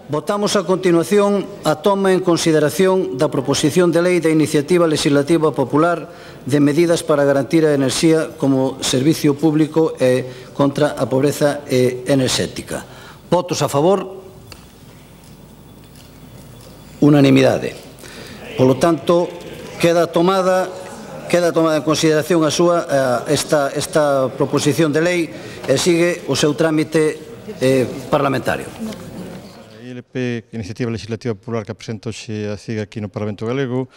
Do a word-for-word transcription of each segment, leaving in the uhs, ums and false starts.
Votamos a continuación a toma en consideración da proposición de lei da Iniciativa Legislativa Popular de medidas para garantir a enerxía como servicio público e contra a pobreza enerxética. Votos a favor? Unanimidade. Polo tanto, queda tomada queda tomada en consideración a súa esta, esta proposición de lei e sigue o seu trámite eh, parlamentario. A I L P, Iniciativa Legislativa Popular que presenta hoxe a C I G aquí no Parlamento Galego,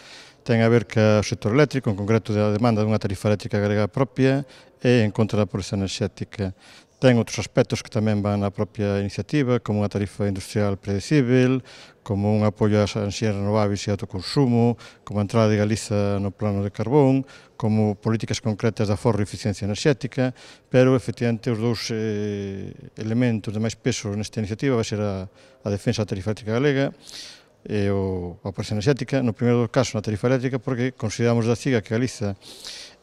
ten a ver co sector eléctrico, en concreto da demanda dunha tarifa eléctrica galega propia e en contra da pobreza enerxética. Ten outros aspectos que tamén van na propia iniciativa, como unha tarifa industrial predecible, como un apoio ás enerxías renováveis e autoconsumo, como a entrada de Galiza no plano de carbón, como políticas concretas de aforro e eficiencia enerxética, pero, efectivamente, os dous eh, elementos de máis peso nesta iniciativa vai ser a, a defensa da tarifa eléctrica galega e o, a pobreza enerxética, no primeiro caso na tarifa eléctrica, porque consideramos da C I G A que Galiza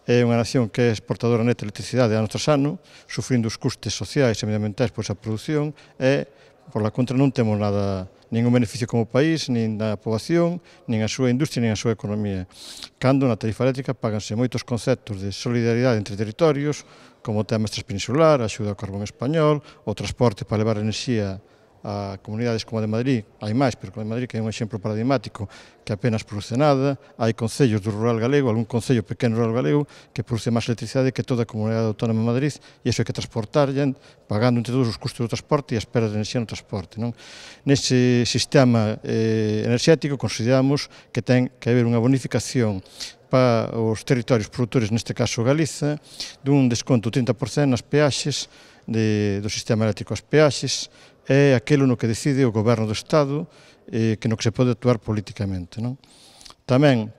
é unha nación que é exportadora neta de electricidade ano tras ano, sufrindo os custes sociais e medioambientais por esa produción e, por la contra, non temos nada, ningún beneficio como país, nin da poboación, nin a súa industria, nin a súa economía. Cando na tarifa eléctrica páganse moitos conceptos de solidaridade entre territorios, como o tema transpeninsular, a axuda ao carbón español, o transporte para levar enerxía a comunidades como a de Madrid, hai máis, pero a de Madrid que é un exemplo paradigmático que apenas produce nada, hai concellos do rural galego, algún concello pequeno rural galego que produce máis electricidade que toda a comunidade autónoma de Madrid e iso hai que transportar, pagando entre todos os custos do transporte e as perdas de enerxía no transporte. Nese sistema enerxético consideramos que ten que haber unha bonificación para os territorios produtores, neste caso Galiza, dun desconto trinta por cento nas peaxes do sistema eléctrico. As peaxes é aquilo no que decide o goberno do Estado, eh, que no que se pode actuar políticamente. Non? Tamén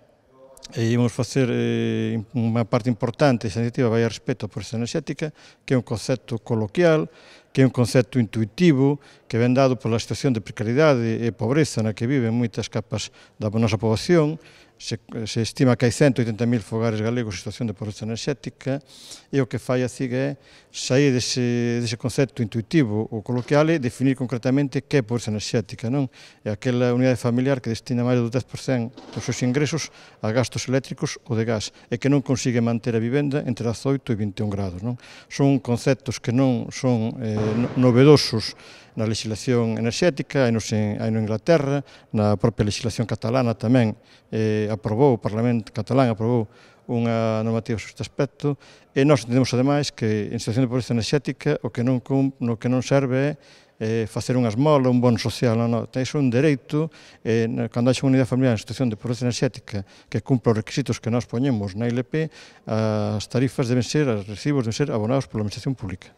eh, íamos facer eh, unha parte importante desta iniciativa vai a respecto á pobreza enerxética, que é un concepto coloquial, que é un concepto intuitivo, que ven dado pola situación de precariedade e pobreza na que viven moitas capas da nosa poboación. Se, se estima que hai cento oitenta mil fogares galegos en situación de pobreza enerxética e o que fai a C I G é sair dese, dese concepto intuitivo ou coloquial e definir concretamente que é pobreza enerxética. Non? É aquela unidade familiar que destina máis do dez por cento dos seus ingresos a gastos eléctricos ou de gas e que non consigue manter a vivenda entre dezaoito e vinte e un grados. Non? Son conceptos que non son eh, novedosos na legislación enerxética, hai no Inglaterra, na propia legislación catalana tamén eh, aprobou, o Parlamento catalán aprobou unha normativa sobre este aspecto e nós entendemos ademais que en situación de pobreza enerxética o que non, no que non serve é eh, facer unha esmola, un bono social, non, non, é un dereito, eh, cando hai unha unidade familiar en situación de pobreza enerxética que cumpla os requisitos que nós poñemos na I L P, as tarifas deben ser, os recibos deben ser abonados pola Administración Pública.